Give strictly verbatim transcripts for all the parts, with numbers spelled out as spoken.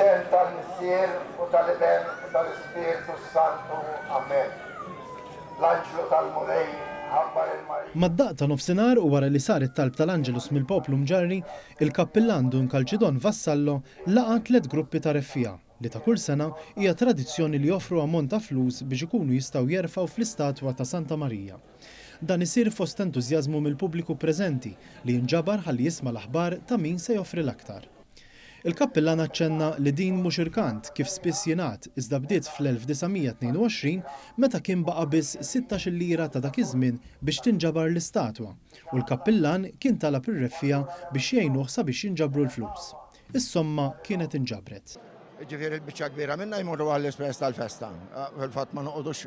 Fl-isem tal-Missier u tal-Iben u tal-Ispirtu Santu. Amen. L-anġlu tal-Mulej ħabbar il-Marija. Mad-daqq ta' nofsinhar u wara li sar it-talb tal-Angelus mill-poplu Mġarri, il-kappillan Dun Kalċidon Vassallo laqa' tliet gruppi ta' reffiegħa li ta' kull sena hija tradizzjoni li joffru ammont ta' flus biex ikunu jistgħu jerfgħu fl-istatwa ta' Santa Marija. Dan isir fost entużjażmu mill-pubbliku preżenti li jinġabar ħalli jisma' l-aħbar ta' min se joffri l-aktar. Il-kappillan aċċenna li din mhux irkant kif spiss jingħad, iżda bdiet fl-elf disa' mija tnejn u għoxrin meta kien baqa' biss sittax-il lira ta' dak iż-żmien biex tinġabar l-istatwa u l-kappillan kien talab ir-reffiegħa biex jgħinuh sabiex jinġabru l-flus. Is-somma kienet inġabret. Ġifieri l-biċċa kbira minna jmorru għall-ispejjeż tal-festa. Fil-fatt ma noqogħdux,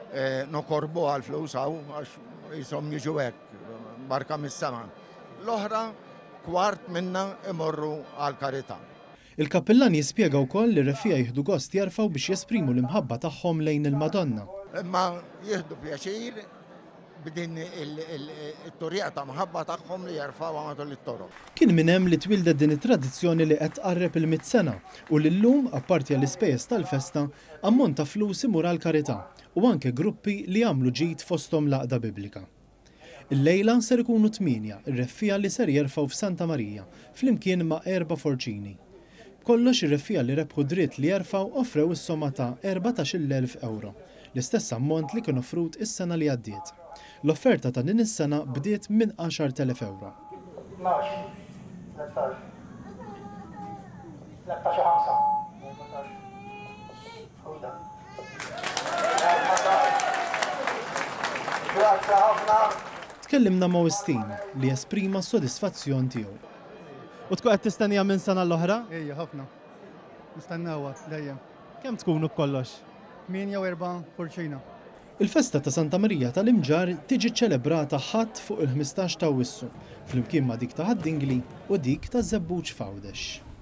eh, nokorbu għall-flus hawn għax jisom jiġu hekk, barka mis-sema. L-oħra kwart minna imorru għall-karità. Il-kappillan jispjega wkoll li r-reffiegħa jieħdu gost jerfgħu biex jesprimu l-imħabba tagħhom lejn il-Madonna. Imma jieħdu pjaċir b'din il-turija ta' mħabba tagħhom li jerfgħu matul it-toroq. Kien minn hemm li twildet din it-tradizzjoni li qed tqarreb il-mitt sena u li llum, apparti għall-ispejjeż tal-festa, ammont ta' flus imur għall-karità u anke gruppi li jagħmlu ġid fosthom l-għaqda biblika. Illejla ser ikunu tmienja r-reffiegħa li ser jerfgħu f'Santa Marija flimkien ma' erba' forċini. B'kollox ir-reffiegħa li rebħu dritt li jerfgħu offrew is-somma ta' erbatax-il elf euro, l-istess ammont li kien offrut is-sena li għaddiet. L-offerta ta' din is-sena bdiet minn għaxar telef euro. Tnax, tlettax, tlettax u ħamsa, erbatax, ħuda. Grazzi ħafna. Tkellimna ma' Wistin li esprima s-sodisfazzjon tiegħu. U tkun qed tistennija minn sena l-oħra? Ejja, ħafna. Nistennewha dejjem. Kemm tkunu b'kollox? Tmienja u erba' forċina. Il-festa ta' Santa Marija tal-Imġarr tiġi ċelebrata ħadd fuq il-ħmistax ta' Awwissu, flimkien ma' dik ta' Ħad-Dingli u dik ta' Żebbuġ f'Għawdex.